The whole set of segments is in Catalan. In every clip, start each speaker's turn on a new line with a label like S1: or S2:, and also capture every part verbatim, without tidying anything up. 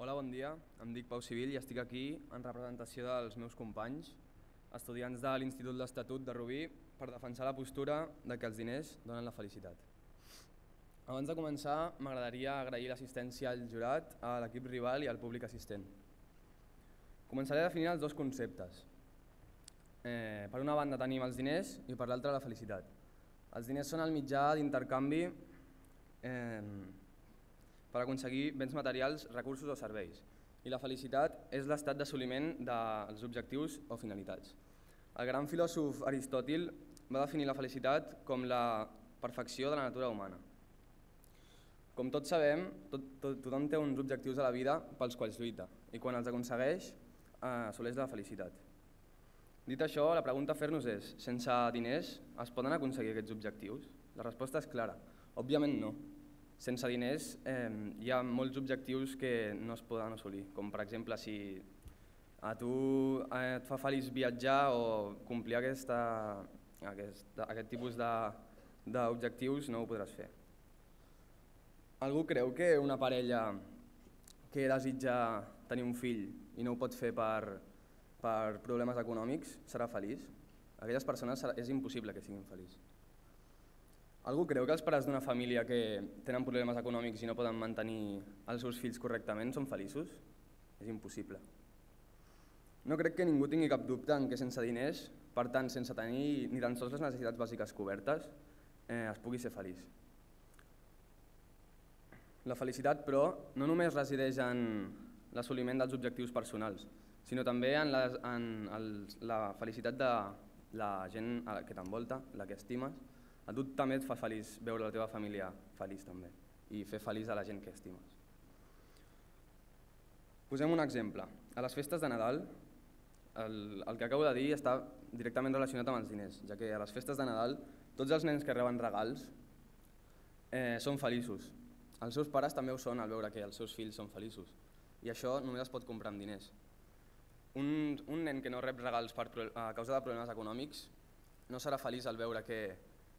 S1: Hola, bon dia. Em dic Pau Civil i estic aquí en representació dels meus companys, estudiants de l'Institut l'Estatut de Rubí, per defensar la postura de que els diners donen la felicitat. Abans de començar, m'agradaria agrair l'assistència al jurat, a l'equip rival i al públic assistent. Començaré definint els dos conceptes. Eh, per una banda tenim els diners i per l'altra la felicitat. Els diners són el mitjà d'intercanvi eh, per aconseguir béns materials, recursos o serveis. I la felicitat és l'estat d'assoliment dels objectius o finalitats. El gran filòsof Aristòtil va definir la felicitat com la perfecció de la natura humana. Com tots sabem, tot, tot, tothom té uns objectius a la vida pels quals lluita i quan els aconsegueix, eh, assoleix la felicitat. Dit això, la pregunta a fer-nos és: sense diners es poden aconseguir aquests objectius? La resposta és clara, òbviament no. Sense diners eh, hi ha molts objectius que no es poden assolir, com per exemple si a tu eh, et fa feliç viatjar o complir aquesta, aquesta, aquest tipus d'objectius no ho podràs fer. Algú creu que una parella que desitja tenir un fill i no ho pot fer per, per problemes econòmics serà feliç? Aquelles persones és impossible que siguin feliços. Algú creu que els pares d'una família que tenen problemes econòmics i no poden mantenir els seus fills correctament són feliços? És impossible. No crec que ningú tingui cap dubte en que sense diners, per tant sense tenir ni tan sols les necessitats bàsiques cobertes, eh, es pugui ser feliç. La felicitat, però, no només resideix en l'assoliment dels objectius personals, sinó també en la, en el, la felicitat de la gent que t'envolta, la que estimes. A tu també et fa feliç veure la teva família feliç també i fer feliç a la gent que estimes. Posem un exemple. A les festes de Nadal, el, el que acabo de dir està directament relacionat amb els diners, ja que a les festes de Nadal tots els nens que reben regals eh, són feliços. Els seus pares també ho són al veure que els seus fills són feliços i això només es pot comprar amb diners. Un, un nen que no rep regals per, a causa de problemes econòmics no serà feliç al veure que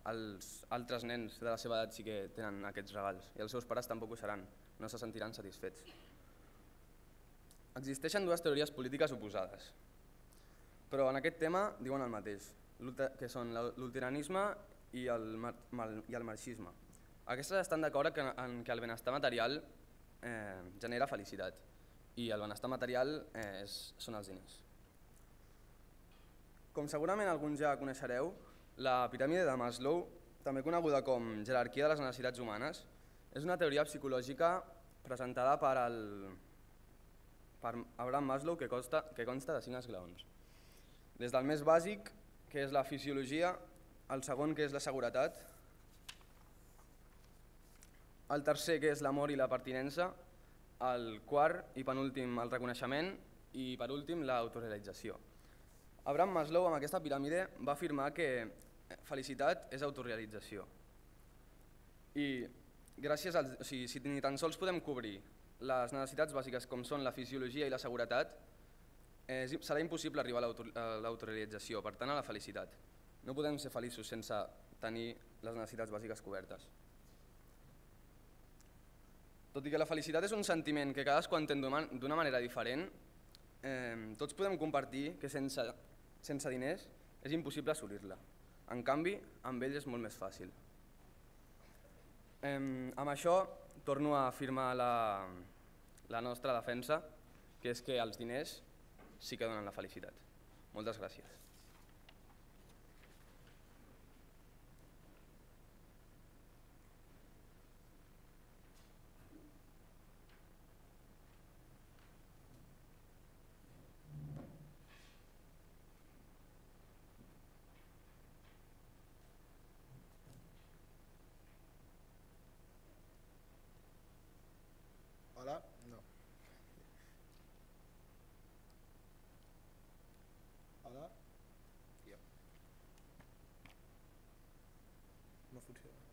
S1: els altres nens de la seva edat sí que tenen aquests regals i els seus pares tampoc ho seran, no se sentiran satisfets. Existeixen dues teories polítiques oposades, però en aquest tema diuen el mateix, que són l'luteranisme i el, i el marxisme. Aquestes estan d'acord en que el benestar material eh, genera felicitat i el benestar material eh, és, són els diners. Com segurament alguns ja coneixereu, la piràmide de Maslow, també coneguda com jerarquia de les necessitats humanes, és una teoria psicològica presentada per, el, per Abraham Maslow que consta, que consta de cinc esglaons. Des del més bàsic, que és la fisiologia, el segon, que és la seguretat, el tercer, que és l'amor i la pertinença, el quart i penúltim, el reconeixement i per últim, l'autorealització. Abraham Maslow, amb aquesta piràmide, va afirmar que felicitat és autorealització. I gràcies als, o sigui, si ni tan sols podem cobrir les necessitats bàsiques com són la fisiologia i la seguretat, eh, serà impossible arribar a l'autorealització, per tant a la felicitat. No podem ser feliços sense tenir les necessitats bàsiques cobertes. Tot i que la felicitat és un sentiment que cadascú entén d'una manera diferent, eh, tots podem compartir que sense, sense diners és impossible assolir-la. En canvi, amb ells és molt més fàcil. Eh, amb això torno a afirmar la, la nostra defensa, que és que els diners sí que donen la felicitat. Moltes gràcies.
S2: Hola? No. Hola? Jo. No funciona.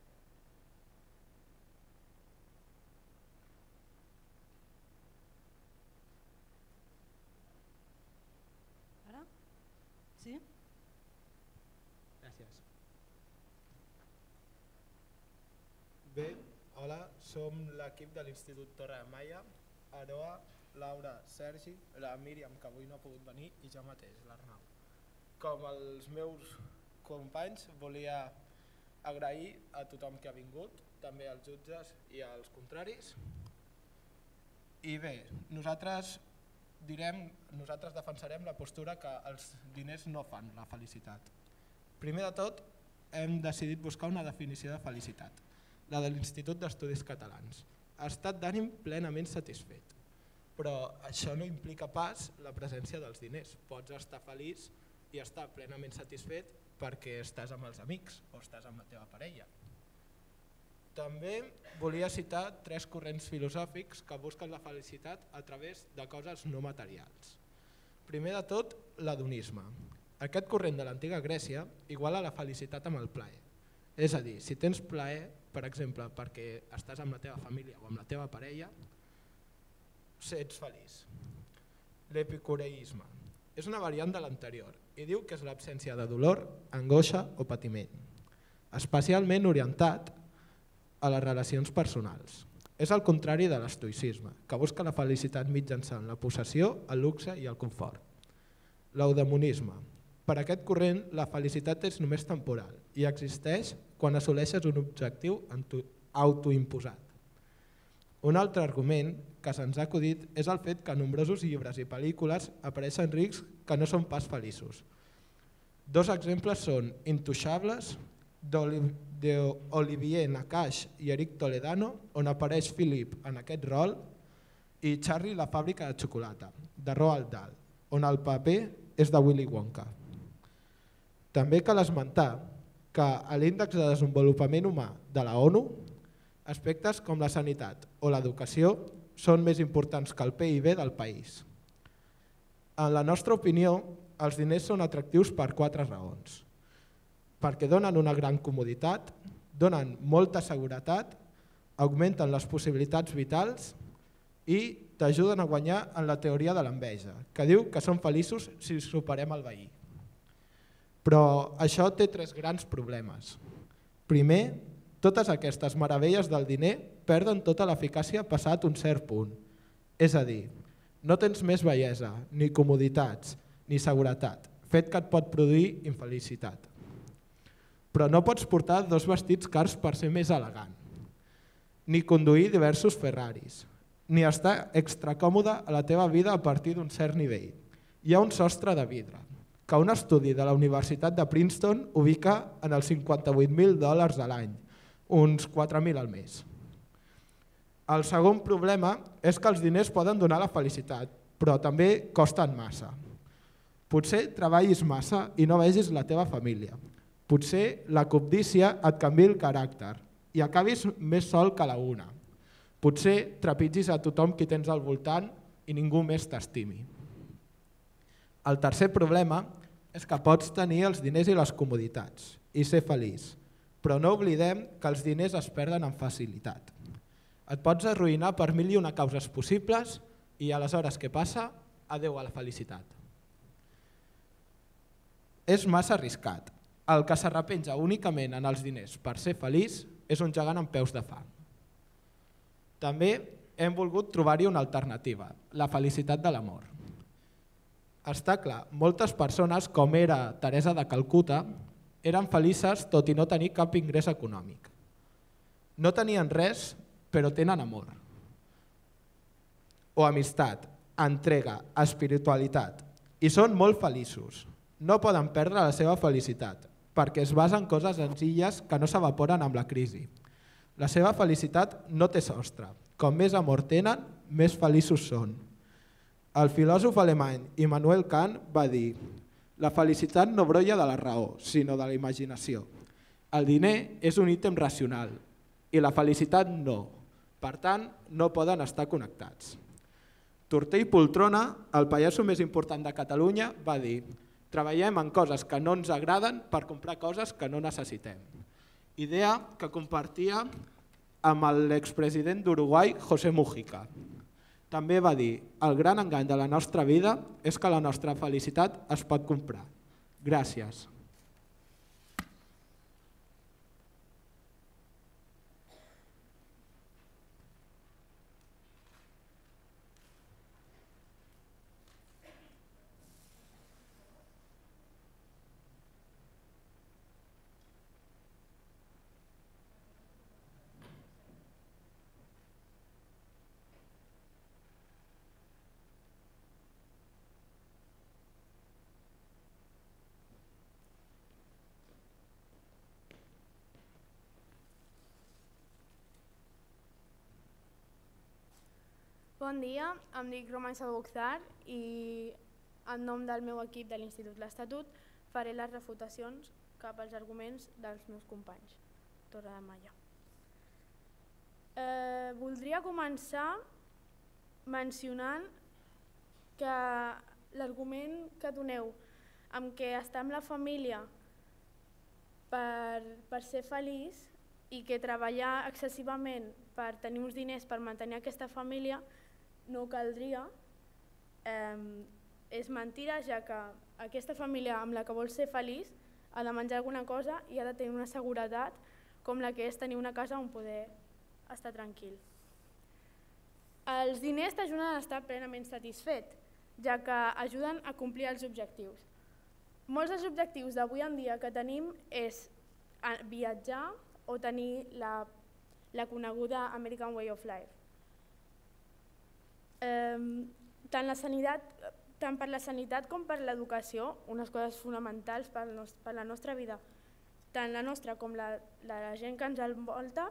S3: Ara? Sí?
S2: Gràcies. Bé, hola, som l'equip de l'Institut Torre de Maia, Aroa Laura, Sergi, la Míriam, que avui no ha pogut venir, i jo mateix, l'Arnau. Com els meus companys, volia agrair a tothom que ha vingut, també als jutges i als contraris. I bé, nosaltres direm, nosaltres defensarem la postura que els diners no fan la felicitat. Primer de tot, hem decidit buscar una definició de felicitat, la de l'Institut d'Estudis Catalans. Estat d'ànim plenament satisfet. Però això no implica pas la presència dels diners. Pots estar feliç i estar plenament satisfet perquè estàs amb els amics o estàs amb la teva parella. També volia citar tres corrents filosòfics que busquen la felicitat a través de coses no materials. Primer de tot, l'hedonisme. Aquest corrent de l'antiga Grècia iguala la felicitat amb el plaer. És a dir, si tens plaer, per exemple, perquè estàs amb la teva família o amb la teva parella, ets feliç. L'epicureisme és una variant de l'anterior i diu que és l'absència de dolor, angoixa o patiment, especialment orientat a les relacions personals. És el contrari de l'estoïcisme, que busca la felicitat mitjançant la possessió, el luxe i el confort. L'eudemonisme. Per aquest corrent, la felicitat és només temporal i existeix quan assoleixes un objectiu autoimposat. Un altre argument que se'ns ha acudit és el fet que en nombrosos llibres i pel·lícules apareixen rics que no són pas feliços. Dos exemples són Intouchables, d'Olivier Nakache i Eric Toledano, on apareix Philip en aquest rol, i Charlie la fàbrica de xocolata, de Roald Dahl, on el paper és de Willy Wonka. També cal esmentar que a l'Índex de Desenvolupament Humà de la ONU, aspectes com la sanitat o l'educació són més importants que el P I B del país. En la nostra opinió, els diners són atractius per quatre raons. Perquè donen una gran comoditat, donen molta seguretat, augmenten les possibilitats vitals i t'ajuden a guanyar en la teoria de l'enveja, que diu que som feliços si superem el veí. Però això té tres grans problemes. Primer, totes aquestes meravelles del diner perden tota l'eficàcia passat un cert punt. És a dir, no tens més bellesa, ni comoditats, ni seguretat, fet que et pot produir infelicitat. Però no pots portar dos vestits cars per ser més elegant, ni conduir diversos Ferraris, ni estar extra còmode a la teva vida a partir d'un cert nivell. Hi ha un sostre de vidre, que un estudi de la Universitat de Princeton ubica en els cinquanta-vuit mil dòlars a l'any, uns quatre mil al mes. El segon problema és que els diners poden donar la felicitat, però també costen massa. Potser treballis massa i no vegis la teva família. Potser la cobdícia et canviï el caràcter i acabis més sol que la una. Potser trepitgis a tothom qui tens al voltant i ningú més t'estimi. El tercer problema és que pots tenir els diners i les comoditats i ser feliç, però no oblidem que els diners es perden amb facilitat. Et pots arruïnar per mil i una causes possibles i aleshores què passa? Adeu a la felicitat. És massa arriscat. El que s'arrepenja únicament en els diners per ser feliç és un gegant amb peus de fang. També hem volgut trobar-hi una alternativa, la felicitat de l'amor. Està clar, moltes persones, com era Teresa de Calcuta, eren felices tot i no tenir cap ingrés econòmic. No tenien res, però tenen amor. O amistat, entrega, espiritualitat. I són molt feliços. No poden perdre la seva felicitat, perquè es basa en coses senzilles que no s'evaporen amb la crisi. La seva felicitat no té sostre. Com més amor tenen, més feliços són. El filòsof alemany Immanuel Kant va dir: la felicitat no brolla de la raó, sinó de la imaginació. El diner és un ítem racional i la felicitat no. Per tant, no poden estar connectats. Tortell Poltrona, el pallasso més important de Catalunya, va dir: treballem en coses que no ens agraden per comprar coses que no necessitem. Idea que compartia amb l'expresident d'Uruguai, José Mujica. També va dir: el gran engany de la nostra vida és que la nostra felicitat es pot comprar. Gràcies.
S4: Bon dia, em dic Roman Sabuchzar i en nom del meu equip de l'Institut L'Estatut faré les refutacions cap als arguments dels meus companys. Torre de Malla. Eh, voldria començar mencionant que l'argument que doneu amb què estar amb la família per, per ser feliç i que treballar excessivament per tenir uns diners per mantenir aquesta família no caldria, eh, és mentira, ja que aquesta família amb la que vols ser feliç ha de menjar alguna cosa i ha de tenir una seguretat com la que és tenir una casa on poder estar tranquil. Els diners t'ajuden a estar plenament satisfet, ja que ajuden a complir els objectius. Molts dels objectius d'avui en dia que tenim és viatjar o tenir la, la coneguda American Way of Life. Eh, tant, la sanitat, tant per la sanitat com per l'educació, unes coses fonamentals per, nos, per la nostra vida, tant la nostra com la, la gent que ens envolta,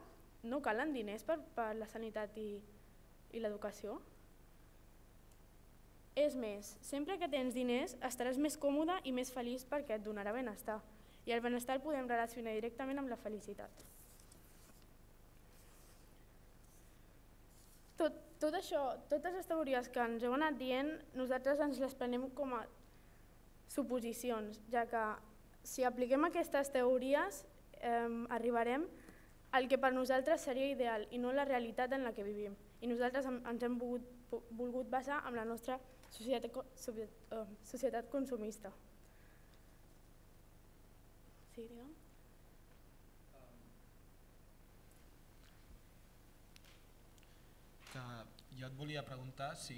S4: no calen diners per, per la sanitat i, i l'educació. És més, sempre que tens diners estaràs més còmode i més feliç perquè et donarà benestar. I el benestar el podem relacionar directament amb la felicitat. Tot, tot això, totes les teories que ens heu anat dient, nosaltres ens les prenem com a suposicions, ja que si apliquem aquestes teories eh, arribarem al que per nosaltres seria ideal i no la realitat en la que vivim. I nosaltres ens hem volgut, volgut basar en la nostra societat, societat consumista. Sí, digue'm.
S2: Que jo et volia preguntar si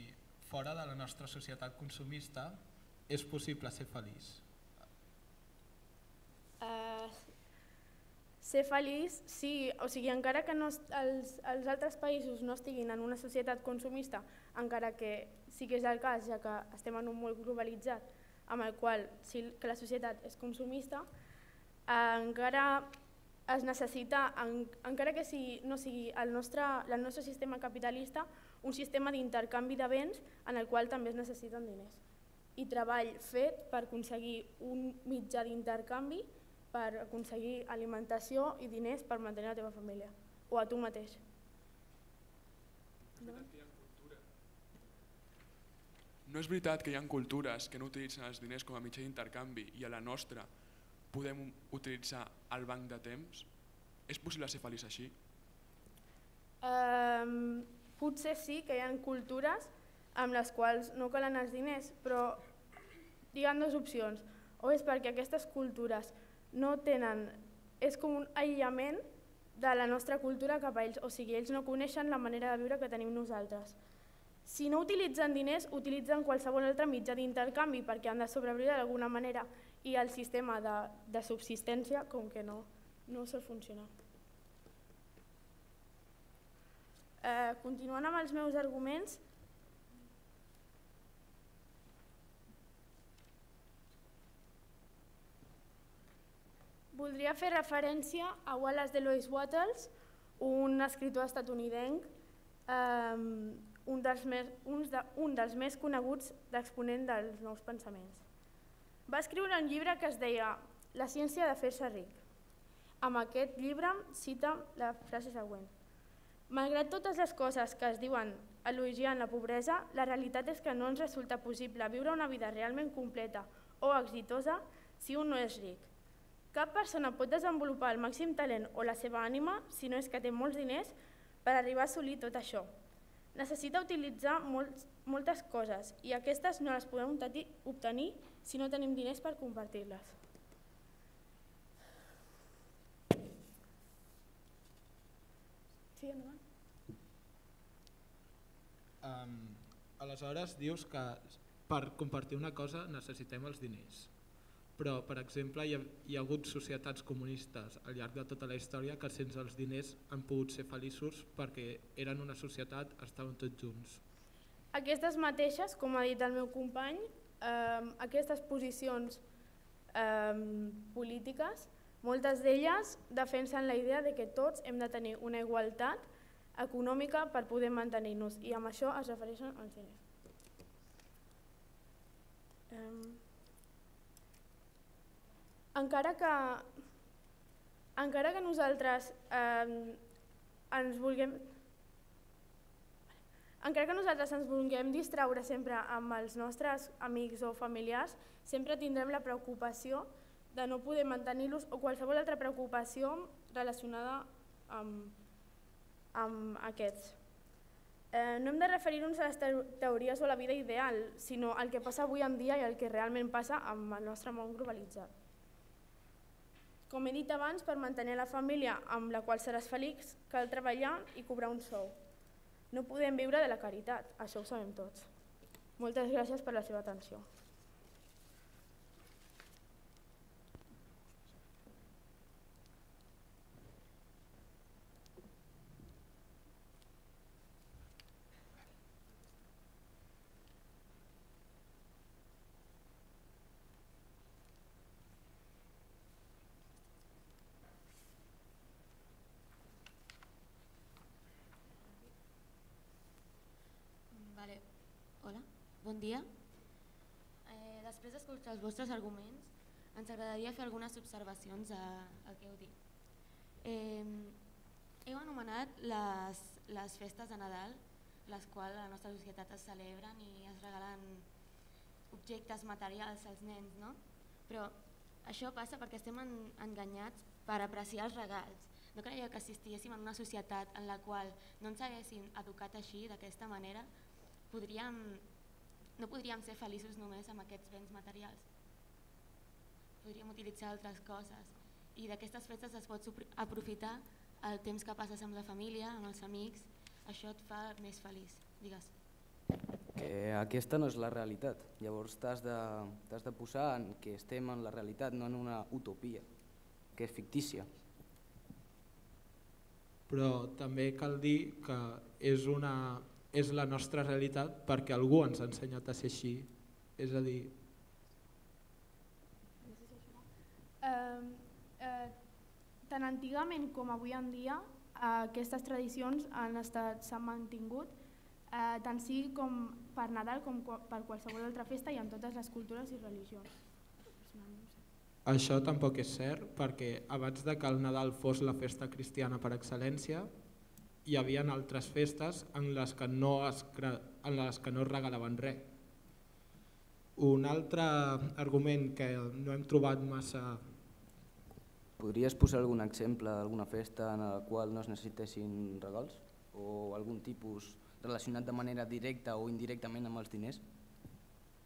S2: fora de la nostra societat consumista és possible ser feliç.
S4: Uh, ser feliç, sí, o sigui, encara que no, els, els altres països no estiguin en una societat consumista, encara que sí que és el cas, ja que estem en un món globalitzat, amb el qual sí que la societat és consumista, uh, encara es necessita, en, encara que si no sigui el nostre, el nostre sistema capitalista, un sistema d'intercanvi de béns en el qual també es necessiten diners. I treball fet per aconseguir un mitjà d'intercanvi, per aconseguir alimentació i diners per mantenir la teva família, o a tu mateix.
S5: No? No és veritat que hi ha cultures que no utilitzen els diners com a mitjà d'intercanvi i a la nostra podem utilitzar el banc de temps? És possible ser feliç així?
S4: Um, potser sí que hi ha cultures amb les quals no calen els diners, però hi ha dues opcions. O és perquè aquestes cultures no tenen, és com un aïllament de la nostra cultura cap a ells, o sigui, ells no coneixen la manera de viure que tenim nosaltres. Si no utilitzen diners, utilitzen qualsevol altre mitjà d'intercanvi perquè han de sobreviure d'alguna manera i el sistema de, de subsistència com que no, no sol funcionar. Eh, continuant amb els meus arguments, voldria fer referència a Wallace Delois Wattles, un escriptor estatunidenc, eh, un, dels més, un, de, un dels més coneguts d'exponent dels nous pensaments. Va escriure un llibre que es deia La ciència de fer-se ric. Amb aquest llibre cita la frase següent. Malgrat totes les coses que es diuen elogiant la pobresa, la realitat és que no ens resulta possible viure una vida realment completa o exitosa si un no és ric. Cap persona pot desenvolupar el màxim talent o la seva ànima si no és que té molts diners per arribar a assolir tot això. Necessita utilitzar molts, moltes coses i aquestes no les podem obtenir si no tenim diners per compartir-les. Sí, endavant.
S2: Um, aleshores dius que per compartir una cosa necessitem els diners. Però, per exemple, hi ha, hi ha hagut societats comunistes al llarg de tota la història que sense els diners han pogut ser feliços perquè eren una societat, estaven tots junts.
S4: Aquestes mateixes, com ha dit el meu company, eh, aquestes posicions eh, polítiques, moltes d'elles defensen la idea de que tots hem de tenir una igualtat econòmica per poder mantenir-nos, i amb això es refereixen als diners. Um, encara que encara que nosaltres um, ens vulguem encara que nosaltres ens vulguem distraure sempre amb els nostres amics o familiars, sempre tindrem la preocupació de no poder mantenir-los o qualsevol altra preocupació relacionada amb, amb aquests. Eh, no hem de referir-nos a les teories o a la vida ideal, sinó al que passa avui en dia i al que realment passa amb el nostre món globalitzat. Com he dit abans, per mantenir la família amb la qual seràs feliç, cal treballar i cobrar un sou. No podem viure de la caritat, això ho sabem tots. Moltes gràcies per la seva atenció.
S6: Vale. Hola, bon dia. Eh, després d'escoltar els vostres arguments, ens agradaria fer algunes observacions al que heu dit. Eh, heu anomenat les, les festes de Nadal, les quals a la nostra societat es celebren i es regalen objectes materials als nens, no? Però això passa perquè estem en, enganyats per apreciar els regals. No creieu que si estiguéssim en una societat en la qual no ens haguessin educat així, d'aquesta manera, podríem, no podríem ser feliços només amb aquests béns materials. Podríem utilitzar altres coses i d'aquestes festes es pot aprofitar el temps que passes amb la família, amb els amics, això et fa més feliç, digues.
S7: Que aquesta no és la realitat, llavors t'has de, t'has de posar en que estem en la realitat, no en una utopia, que és fictícia.
S2: Però també cal dir que és una... és la nostra realitat perquè algú ens ha ensenyat a ser així. És a dir...
S4: Eh, eh, tant antigament com avui en dia, eh, aquestes tradicions han estat, s'han mantingut, eh, tant sigui com per Nadal com per qualsevol altra festa i en totes les cultures i religions.
S2: Això tampoc és cert perquè abans de que el Nadal fos la festa cristiana per excel·lència, hi havia altres festes en les que no es, en les que no es regalaven res. Un altre argument que no hem trobat massa...
S7: Podries posar algun exemple d'alguna festa en la qual no es necessitessin regals? O algun tipus relacionat de manera directa o indirectament amb els diners?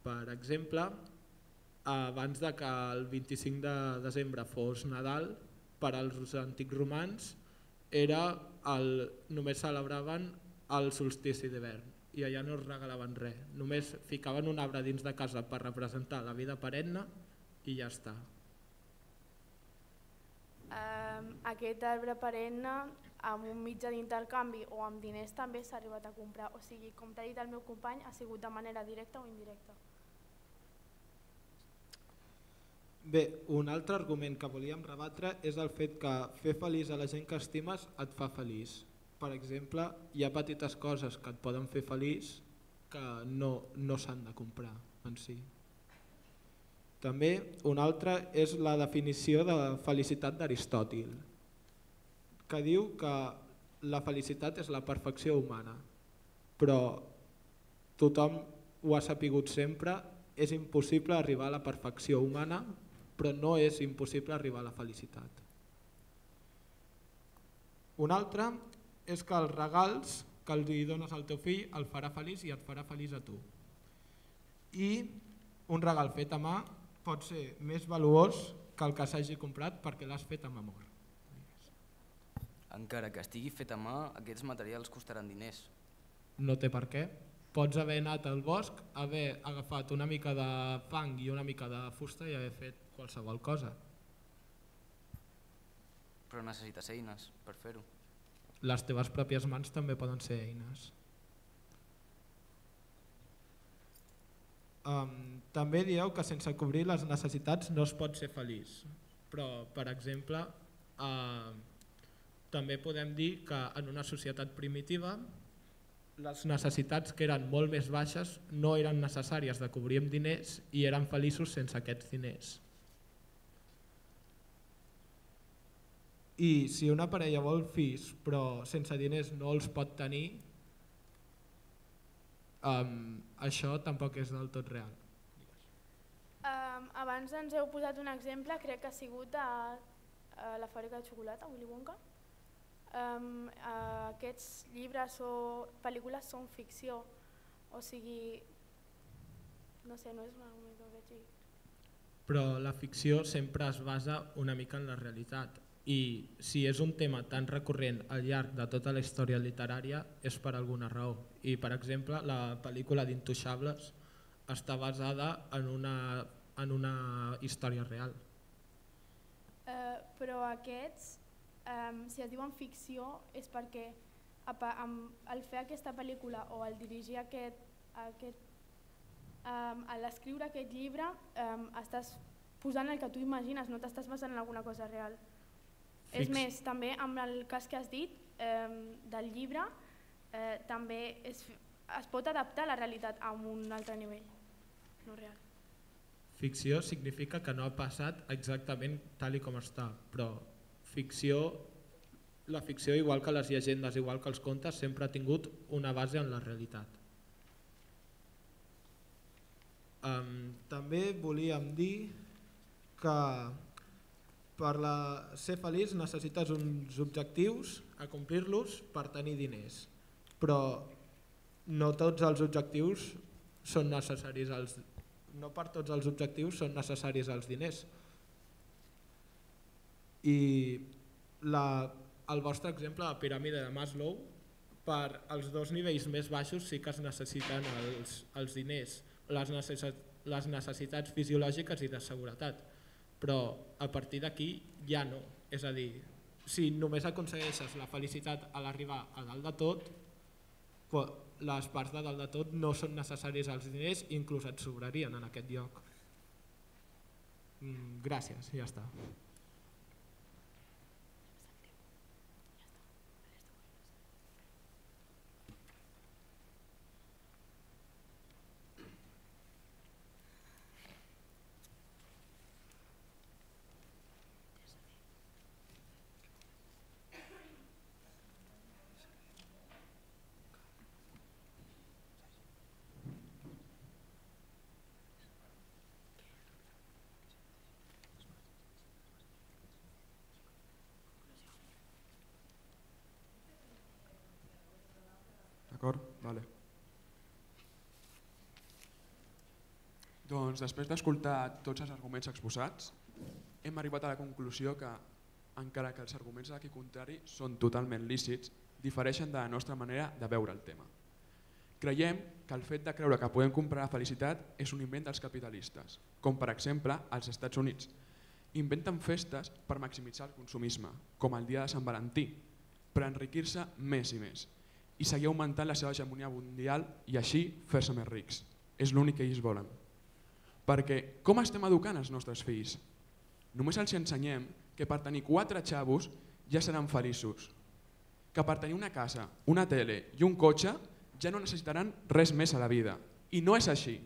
S2: Per exemple, abans de que el vint-i-cinc de desembre fos Nadal, per als antics romans era el, només celebraven el solstici d'hivern i allà no es regalaven res, només ficaven un arbre dins de casa per representar la vida perenne i ja està.
S4: Um, aquest arbre perenne amb un mitjà d'intercanvi o amb diners també s'ha arribat a comprar, o sigui, com t'ha dit el meu company, ha sigut de manera directa o indirecta.
S2: Bé, un altre argument que volíem rebatre és el fet que fer feliç a la gent que estimes et fa feliç. Per exemple, hi ha petites coses que et poden fer feliç que no, no s'han de comprar en si. També un altre és la definició de felicitat d'Aristòtil, que diu que la felicitat és la perfecció humana, però tothom ho ha sapigut sempre, és impossible arribar a la perfecció humana, però no és impossible arribar a la felicitat. Un altre és que els regals que els dones al teu fill el farà feliç i et farà feliç a tu. I un regal fet a mà pot ser més valuós que el que s'hagi comprat perquè l'has fet amb amor.
S7: Encara que estigui fet a mà, aquests materials costaran diners.
S2: No té per què. Pots haver anat al bosc, haver agafat una mica de fang i una mica de fusta i haver fet qualsevol cosa.
S7: Però necessites eines per fer-ho.
S2: Les teves pròpies mans també poden ser eines. Um, també dieu que sense cobrir les necessitats no es pot ser feliç. Però, per exemple, uh, també podem dir que en una societat primitiva les necessitats que eren molt més baixes no eren necessàries de cobrir amb diners i eren feliços sense aquests diners. I si una parella vol fills però sense diners no els pot tenir, um, això tampoc és del tot real.
S4: Um, abans ens heu posat un exemple, crec que ha sigut a, a la fàbrica de xocolata, Willy Wonka. Um, uh, aquests llibres o pel·lícules són ficció, o sigui, no sé, no és un argument que veig aquí.
S2: Però la ficció sempre es basa una mica en la realitat i si és un tema tan recurrent al llarg de tota la història literària és per alguna raó. I per exemple la pel·lícula d'Intouchables està basada en una, en una història real.
S4: Uh, però aquests, um, si es diuen ficció, és perquè al fer aquesta pel·lícula o al dirigir aquest, aquest um, a l'escriure aquest llibre, um, estàs posant el que tu imagines, no t'estàs basant en alguna cosa real. Fix. És més, també amb el cas que has dit um, del llibre, uh, també es, es pot adaptar a la realitat a un altre nivell. No real.
S2: Ficció significa que no ha passat exactament tal i com està, però ficció, la ficció, igual que les llegendes, igual que els contes, sempre ha tingut una base en la realitat. Um, també volíem dir que per la, ser feliç necessites uns objectius a complir-los per tenir diners, però no tots els objectius són necessaris als no per tots els objectius són necessaris els diners. I la, el vostre exemple, la piràmide de Maslow, per als dos nivells més baixos sí que es necessiten els, els diners, les, necessit, les necessitats fisiològiques i de seguretat, però a partir d'aquí ja no. És a dir, si només aconsegueixes la felicitat a l'arribar a dalt de tot, les parts de dalt de tot no són necessaris als diners i inclús et sobrarien en aquest lloc. Gràcies, ja està.
S5: D'acord? Vale. Doncs després d'escoltar tots els arguments exposats, hem arribat a la conclusió que, encara que els arguments d'aquí contrari són totalment lícits, difereixen de la nostra manera de veure el tema. Creiem que el fet de creure que podem comprar la felicitat és un invent dels capitalistes, com per exemple als Estats Units. Inventen festes per maximitzar el consumisme, com el dia de Sant Valentí, per enriquir-se més i més, i seguir augmentant la seva hegemonia mundial i així fer-se més rics. És l'únic que ells volen. Perquè com estem educant els nostres fills? Només els ensenyem que per tenir quatre xavos ja seran feliços, que per tenir una casa, una tele i un cotxe ja no necessitaran res més a la vida. I no és així.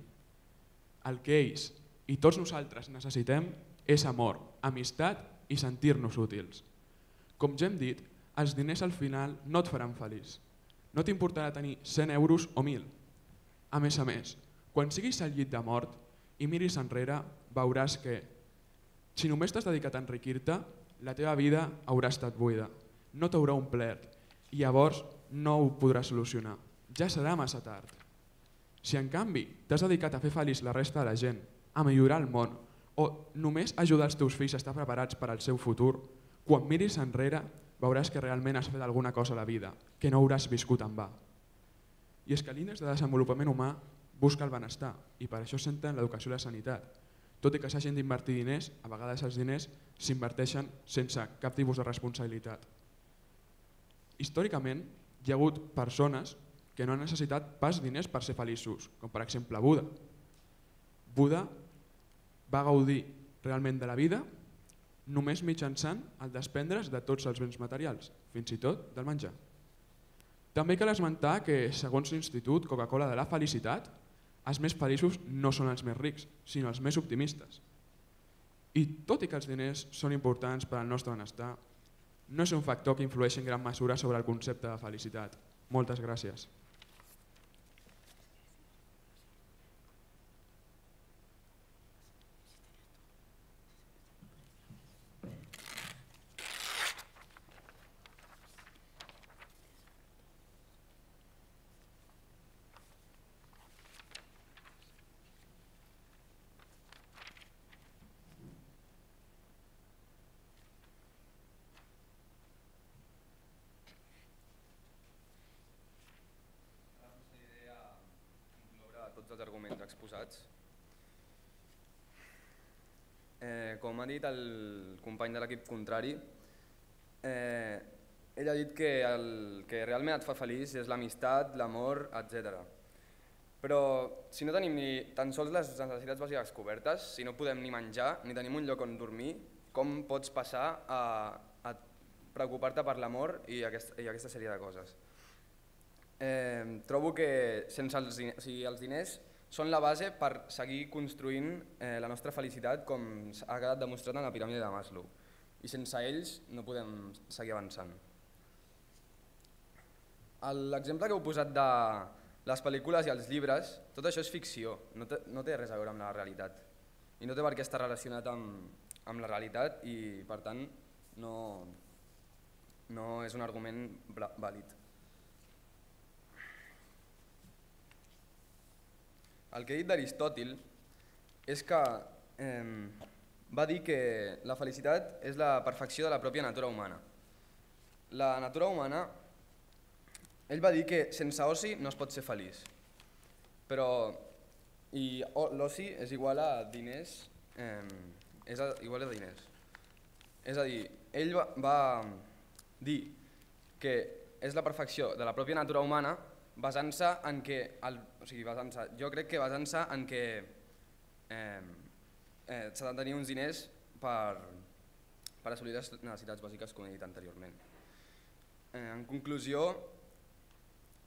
S5: El que ells i tots nosaltres necessitem és amor, amistat i sentir-nos útils. Com ja hem dit, els diners al final no et faran feliç. No t'importarà tenir cent euros o mil. A més a més, quan siguis al llit de mort i miris enrere, veuràs que, si només t'has dedicat a enriquir-te, la teva vida haurà estat buida, no t'haurà omplert i llavors no ho podràs solucionar. Ja serà massa tard. Si en canvi t'has dedicat a fer feliç la resta de la gent, a millorar el món o només ajudar els teus fills a estar preparats per al seu futur, quan miris enrere veuràs que realment has fet alguna cosa a la vida, que no hauràs viscut en va. I és que l'índex de desenvolupament humà busca el benestar i per això s'entén l'educació i la sanitat. Tot i que s'hagin d'invertir diners, a vegades els diners s'inverteixen sense cap tipus de responsabilitat. Històricament hi ha hagut persones que no han necessitat pas diners per ser feliços, com per exemple Buda. Buda va gaudir realment de la vida només mitjançant el desprendre's de tots els béns materials, fins i tot del menjar. També cal esmentar que, segons l'Institut Coca-Cola de la Felicitat, els més feliços no són els més rics, sinó els més optimistes. I tot i que els diners són importants per al nostre benestar, no és un factor que influeixi en gran mesura sobre el concepte de felicitat. Moltes gràcies.
S1: Tots els arguments exposats. Eh, com ha dit el company de l'equip contrari, eh, ell ha dit que el que realment et fa feliç és l'amistat, l'amor, etcètera. Però si no tenim ni tan sols les necessitats bàsiques cobertes, si no podem ni menjar ni tenim un lloc on dormir, com pots passar a, a preocupar-te per l'amor i, aquest, i aquesta sèrie de coses? Eh, trobo que sense els, o sigui, els diners són la base per seguir construint eh, la nostra felicitat com ha quedat demostrat en la piràmide de Maslow, i sense ells no podem seguir avançant. L'exemple que heu posat de les pel·lícules i els llibres, tot això és ficció, no té, no té res a veure amb la realitat i no té per què estar relacionat amb, amb la realitat i per tant no, no és un argument vàlid. El que he dit d'Aristòtil és que eh, va dir que la felicitat és la perfecció de la pròpia natura humana. La natura humana, ell va dir que sense oci no es pot ser feliç, però i l'oci és igual a diners, eh, és a, igual a diners. És a dir, ell va, va dir que és la perfecció de la pròpia natura humana basant-se en que, el, o sigui, basant-se, jo crec que basant-se en que eh, eh, s'ha de tenir uns diners per, per assolir les necessitats bàsiques, com he dit anteriorment. Eh, en conclusió,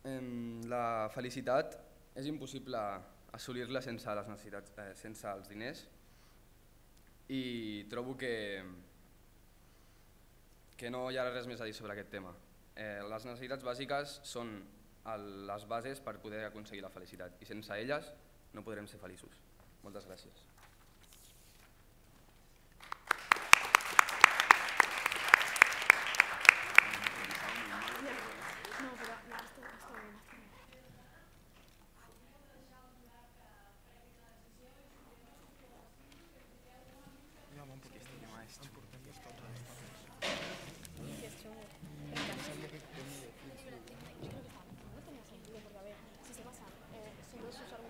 S1: eh, la felicitat és impossible assolir-la sense les necessitats, eh, sense els diners, i trobo que, que no hi ha res més a dir sobre aquest tema. Eh, les necessitats bàsiques són les bases per poder aconseguir la felicitat i sense elles no podrem ser feliços. Moltes gràcies.
S4: Si se pasan, eh, son dos sus argumentos.